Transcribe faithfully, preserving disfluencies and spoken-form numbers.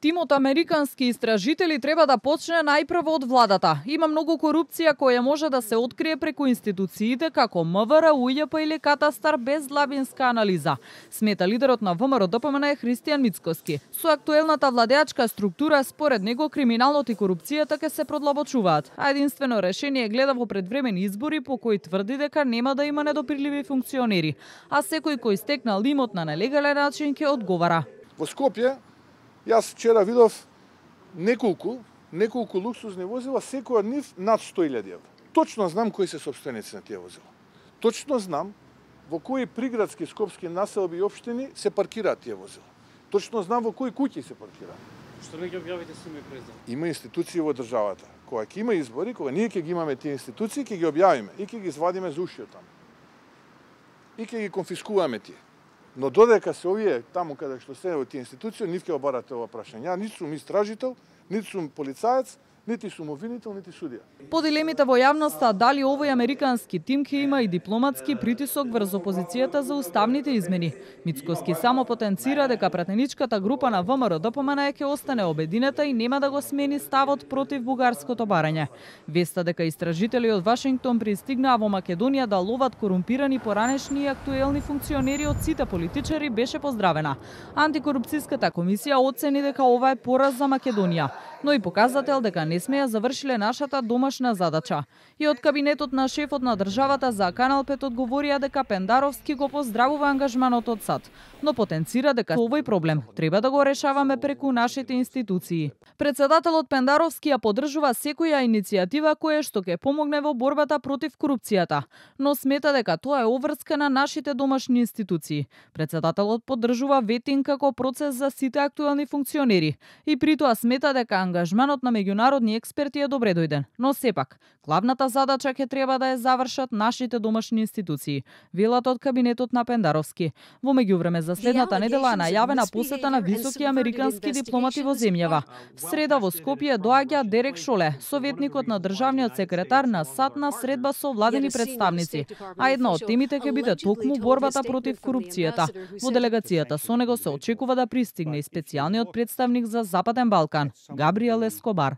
Тимот американски истражители треба да почне најпрво од владата. Има многу корупција која може да се открие преку институциите како МВР, УЈП или Катастар без длабинска анализа, смета лидерот на ВМРО-ДПМН Христијан Мицкоски. Со актуелната владеачка структура, според него, криминалот и корупцијата ќе се продлабочуваат, а единствено решение гледа во предвремени избори по кои тврди дека нема да има недопирливи функционери, а секој кој стекнал имот на нелегален начин ќе одговара. Во Скопје јас вчера видов неколку, неколку луксузни возила, секој од нив над сто илјади евра. Точно знам кои се собственици на тие возила. Точно знам во кои приградски скопски населби и општини се паркираат тие возила. Точно знам во кои куќи се паркираат. Што не ги објавите со име и презиме? Има институции во државата. Кога ќе има избори, кога ние ќе ги имаме тие институции, ќе ги објавиме и ќе ги извадиме за уши од таму. И ќе ги конфискуваме тие. Но додека се овие таму каде што се во тие институции, нив ќе обарате ова прашање. Ја ниту сум истражител, ниту сум полицаец, нити сум обвинител, нити судија. По дилемите во јавноста дали овој американски тим ќе има и дипломатски притисок врз опозицијата за уставните измени. Мицкоски само потенцира дека пратеничката група на ВМРО-ДПМН ќе остане обединета и нема да го смени ставот против бугарското барање. Веста дека истражители од Вашингтон пристигнаа во Македонија да ловат корумпирани поранешни и актуелни функционери од сите политичари беше поздравена. Антикорупцијската комисија оцени дека ова е пораз за Македонија, но и показател дека не сме ја завршиле нашата домашна задача. И од кабинетот на шефот на државата за Канал пет одговорија дека Пендаровски го поздравува ангажманот од САД, но потенцира дека овој проблем треба да го решаваме преку нашите институции. Председателот Пендаровски ја поддржува секоја иницијатива која што ќе помогне во борбата против корупцијата, но смета дека тоа е обврска на нашите домашни институции. Председателот поддржува ветинг како процес за сите актуелни функционери и при тоа смета дека ангажманот на меѓународни експерти е добре дојден, но сепак главната задача ќе треба да ја завршат нашите домашни институции, велат од кабинетот на Пендаровски. Во меѓувреме за следната недела е најавена посета на високи американски дипломати во земјава. В среда во Скопје доаѓа Дерек Шоле, советникот на државниот секретар на САД на средба со владени представници, а една од темите ќе биде токму борбата против корупцијата. Во делегацијата со него се очекува да пристигне и специјалниот представник за Западен Балкан, Габриел Ескобар.